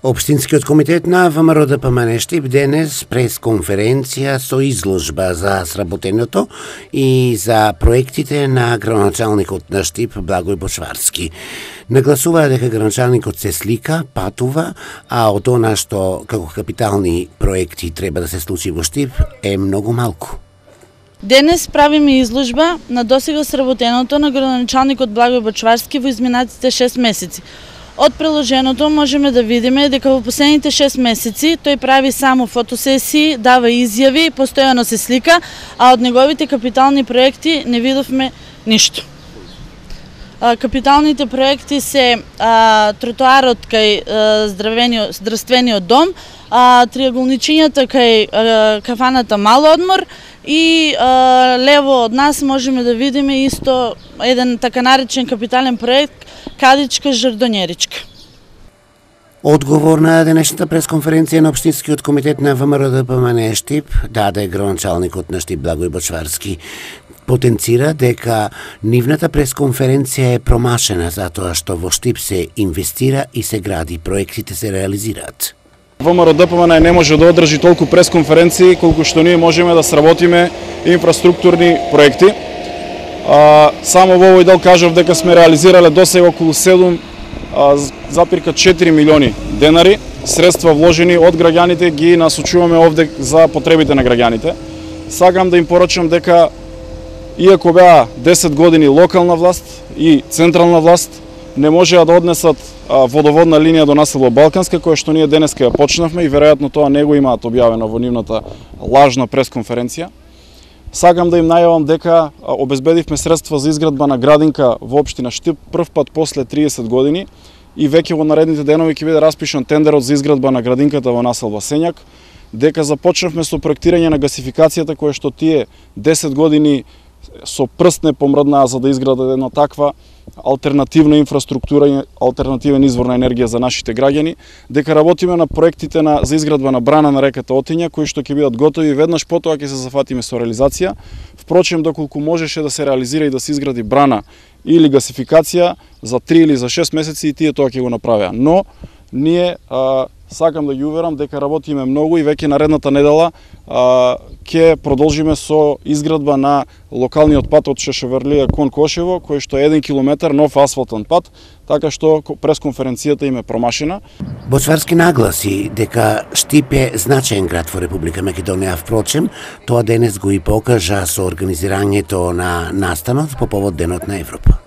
Општинскиот комитет на ВМРО ДПМН Штип денес пресконференција со изложба за сработеното и за проектите на градоначалникот на Штип Благој Бочварски. Нагласуваа дека градоначалникот се слика, патува, а од она што како капитални проекти треба да се случи во Штип е многу малку. Денес правиме изложба на досега сработеното на градоначалникот Благој Бочварски во изминатите 6 месеци. Од приложеното можеме да видиме дека во последните 6 месеци тој прави само фотосесии, дава изјави, постојано се слика, а од неговите капитални проекти не видовме ништо. Капиталните проекти се тротоарот кај здравствениот дом, триаголничињата кај кафаната Мал одмор и лево од нас можеме да видиме исто еден така наречен капитален проект Кадичка Жардонеричка. Одговор на денешната пресконференција на Општинскиот комитет на ВМРО ДПМН Штип даде градоначалникот на Штип Благој Бочварски. Потенцира дека нивната пресконференција е промашена затоа што во Штип се инвестира и се гради, проектите се реализираат. ВМРО ДПМН не може да одржи толку пресконференции колку што ние можеме да сработиме инфраструктурни проекти. Само во овој дел кажав дека сме реализирале досега околу 7,4 милиони денари, средства вложени од граѓаните, ги насочуваме овде за потребите на граѓаните. Сакам да им порачам дека иако беа 10 години локална власт и централна власт, не можеа да однесат водоводна линија до насело Балканска, која што ние денеска ја почнавме и веројатно тоа не го имаат објавено во нивната лажна пресконференција. Сакам да им најавам дека обезбедивме средства за изградба на градинка во општина Штип прв пат после 30 години и веќе во наредните денови ќе биде распишан тендерот за изградба на градинката во населба Сењак, дека започнавме со проектирање на гасификацијата која што тие 10 години со прст не помрднаа за да изградат една таква алтернативна инфраструктура и алтернативен извор на енергија за нашите граѓани, дека работиме на проектите за изградба на брана на реката Отиња, кои што ќе бидат готови веднаш потоа ќе се зафатиме со реализација. Впрочем, доколку можеше да се реализира и да се изгради брана или гасификација за 3 или за 6 месеци и тие тоа ќе го направеа. Но ние сакам да ги уверам дека работиме многу и веќе наредната недела ќе продолжиме со изградба на локалниот пат од Шешеврлија кон Кошево, кој што е 1 километар нов асфалтен пат, така што пресконференцијата им е промашена. Бочварски нагласи дека Штип е значаен град во Република Македонија, впрочем, тоа денес го и покажа со организирањето на настанот по повод Денот на Европа.